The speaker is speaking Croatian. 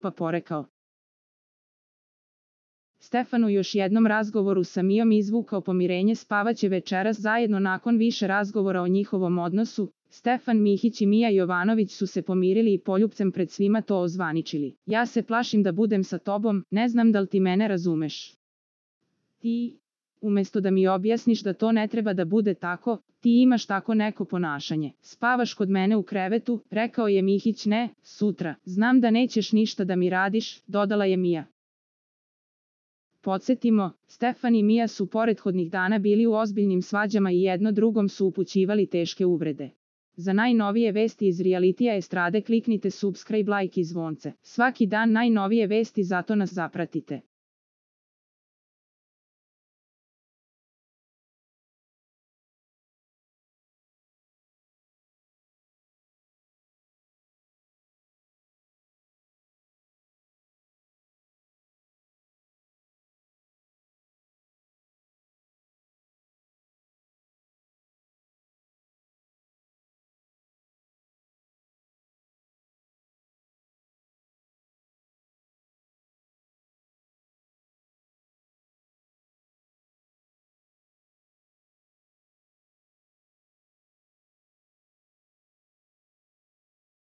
pa porekao. Stefan u još jednom razgovoru sa Mijom izvukao pomirenje, spavaće večeras zajedno. Nakon više razgovora o njihovom odnosu, Stefan Mihić i Mija Jovanović su se pomirili i poljupcem pred svima to ozvaničili. Ja se plašim da budem sa tobom, ne znam da li ti mene razumeš. Ti, umjesto da mi objasniš da to ne treba da bude tako, ti imaš tako neko ponašanje. Spavaš kod mene u krevetu, rekao je Mihić. Ne, sutra. Znam da nećeš ništa da mi radiš, dodala je Mija. Podsjetimo, Stefan i Mija su prethodnih dana bili u ozbiljnim svađama i jedno drugom su upućivali teške uvrede. Za najnovije vesti iz realitija estrade kliknite subscribe, like i zvonce. Svaki dan najnovije vesti, zato nas zapratite.